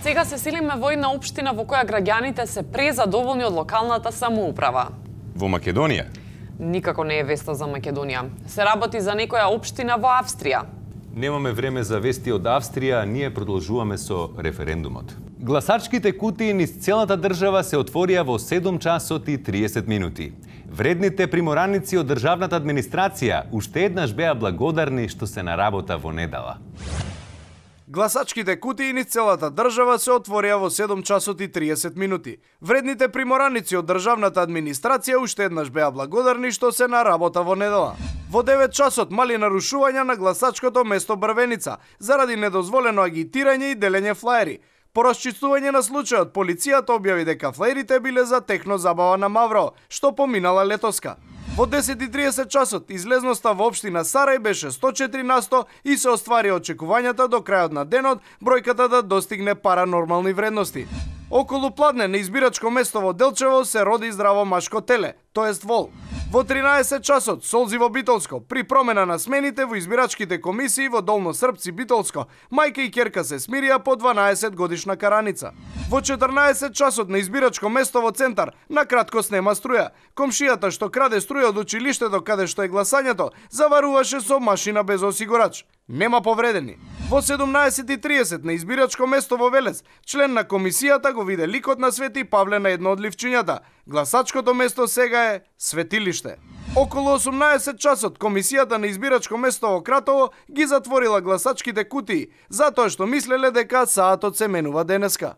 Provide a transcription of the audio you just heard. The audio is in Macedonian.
Сега се селиме во една општина во која граѓаните се презадоволни од локалната самоуправа. Во Македонија? Никако не е веста за Македонија. Се работи за некоја општина во Австрија. Немаме време за вести од Австрија, ние продолжуваме со референдумот. Гласачките кутии низ целата држава се отворија во 7 часот и 30 минути. Вредните примораници од државната администрација уште еднаш беа благодарни што се на работа во недела. Гласачките кутии низ целата држава се отворија во 7 часот и 30 минути. Вредните примораници од државната администрација уште еднаш беа благодарни што се на работа во недела. Во 9 часот мали нарушувања на гласачкото место Брвеница заради недозволено агитирање и делење флаери. По расчистување на случајот, полицијата објави дека флаерите биле за техно забава на Мавро, што поминала летоска. Во 10:30 часот излезноста во општина Сарај беше 104% и се оствари очекувањата до крајот на денот бројката да достигне паранормални вредности. Околу пладне на избирачко место во Делчево се роди здраво машко теле, тоест вол. Во 13 часот солзи во Битолско, при промена на смените во избирачките комисии во Долно Српци Битолско, мајка и ќерка се смирија по 12 годишна караница. Во 14 часот на избирачко место во Центар, на кратко снема струја. Комшијата што краде струја од училиштето каде што е гласањето, заваруваше со машина без осигурач. Нема повредени. Во 17:30 на избирачко место во Велес, член на комисијата го виде ликот на Свети Павле на едно од ливчињата. Гласачкото место сега е светилиште. Околу 18 часот комисијата на избирачко место во Кратово ги затворила гласачките кутии, затоа што мислеле дека саатот се менува денеска.